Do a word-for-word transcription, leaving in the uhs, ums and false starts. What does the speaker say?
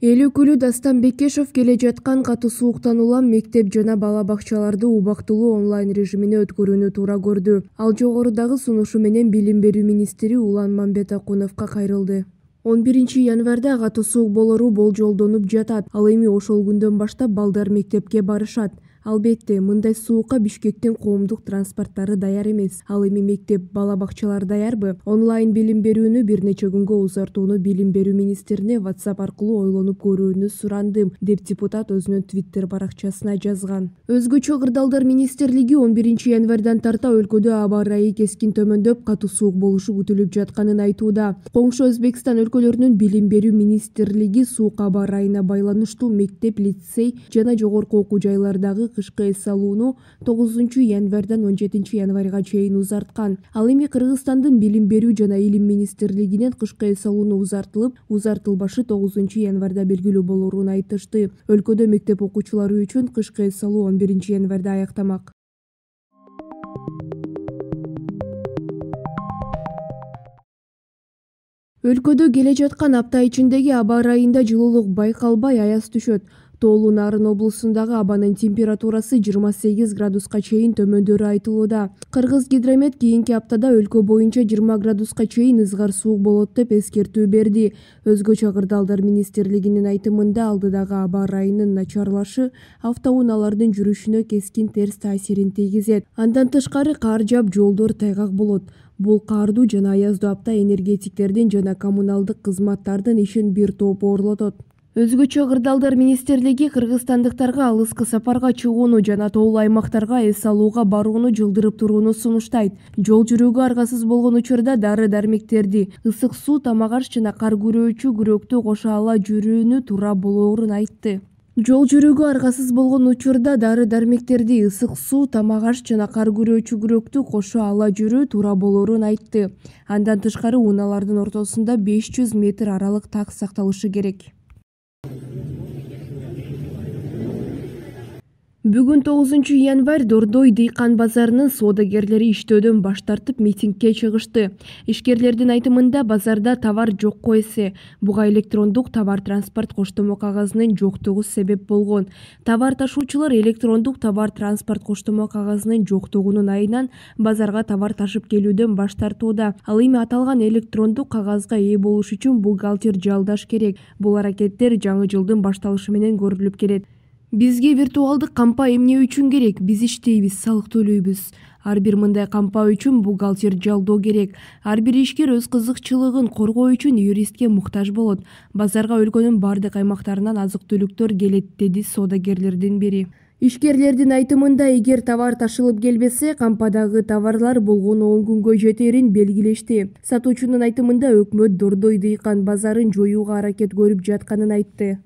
Элүүкүлүү Дастан Бекешов келе жаткан катуу сууктан улам мектеп жана бала бакчаларды убактылуу онлайн режимине өткөрүүнү туура көрдү. Ал жогорудагы сунушу менен Билим берүү министри Улан Мамбетакуновго кайрылды. он биринчи январда катуу суук болору болжолдонуп жатат. Ал эми ошол күндөн баштап балдар мектепке барышат. Албетте, мындай суукка Бишкектин коомдук транспорттары даяр эмес. Ал эми мектеп, бала бакчалар даярбы? Онлайн билим берүүнү бир нече күнгө узартууну Билим берүү министрине WhatsApp аркылуу ойлонуп көрүүнү сурандым, деп депутат өзүнүн Twitter баракчасына жазган. Өзгөчө кырдаалдар министрлиги он биринчи январдан тарта өлкөдө аба ырайы кескин төмөндөп, катуу суук болушу күтүлүп жатканын айтууда. Коңшу Өзбекстан өлкөлөрүнүн Билим берүү министрлиги суук аба ырайына байланыштуу мектеп, лицей жана жогорку окуу жайлардагы кышкы эс алууну тогузунчу январдан он жетинчи январга чейин узарткан. Ал эми Кыргызстандын Билим берүү жана илим министрлигинен кышкы эс алууну узартылып, узартылбашы тогузунчу январда белгилүү болоорун айтышты. Өлкөдө мектеп окуучулары үчүн кышкы эс алуу он биринчи январда аяктамак. Өлкөдө келе жаткан апта ичиндеги аба ырайында жылуулук байкалбай аяз түшөт. Тоолуу Нарын облусундагы абанын температурасы жыйырма сегиз градуска чейин төмөндөрү айтылууда. Кыргыз гидромет кийинки аптада өлкө боюнча жыйырма градуска чейин ызгар суук болот деп эскертүү берди. Өзгөчө кырдаалдар министрлигинин айтымында алдыдагы аба ырайынын начарлашы автоунаалардын жүрүшүнө кескин терс таасирин тийгизет. Андан тышкары кар жаап, жолдор тайгак болот. Бул каардуу жана аяздуу апта энергетиктердин жана коммуналдык кызматтардын ишин бир топ оорлотот. Өзгөчө кырдаалдар министрлиги кыргызстандыктарга алыскы сапарга чыгууну жана тоолуу аймактарга эс алууга барууну жылдырып турууну сунуштайт. Жол жүрүүгө аргасыз болгон учурда дары-дармектерди, ысык суу, тамак аш жана кар күрөөчү күрөктү кошо ала жүрүүнү туура болоорун айтты. Жол жүрүүгө аргасыз болгон учурда дары-дармектерди, ысык суу, тамак аш жана кар күрөөчү күрөктү кошо ала жүрүү туура болоорун айтты. Андан тышкары унаалардын ортосунда беш жүз метр аралык так сакталышы керек. Бүгүн тогузунчу январь Дордой дыйкан базарынын соодагерлери иштөөдөн баш тартып митингге чыгышты. Ишкерлердин айтымында базарда товар жокко эсе. Буга электрондук товар транспорт коштомо кагазынын жоктугу себеп болгон. Товар ташуучулар электрондук товар транспорт коштомо кагазынын жоктугунун айынан базарга товар ташып келүүдөн баш тартууда. Ал эми аталган электрондук кагазга ээ болуш үчүн бухгалтер жалдаш керек. Бул аракеттер жаңы жылдын башталышы менен көрүлүп келет. Бизге виртуалдык кампа эмне үчүн керек? Биз иштейбиз, салык төлөйбүз. Ар бир мындай кампа үчүн бухгалтер жалдоо керек. Ар бир ишкер өз кызыкчылыгын коргоо үчүн юристке муктаж болот. Базарга өлкөнүн бардык аймактарынан азык-түлүктөр келет, деди соодагерлердин бири. Ишкерлердин айтымында, эгер товар ташылып келбесе, кампадагы товарлар болгону он күнгө жетерин белгилешти. Сатуучунун айтымында, өкмөт Дордой дыйкан базарын жоюуга аракет көрүп жатканын айтты.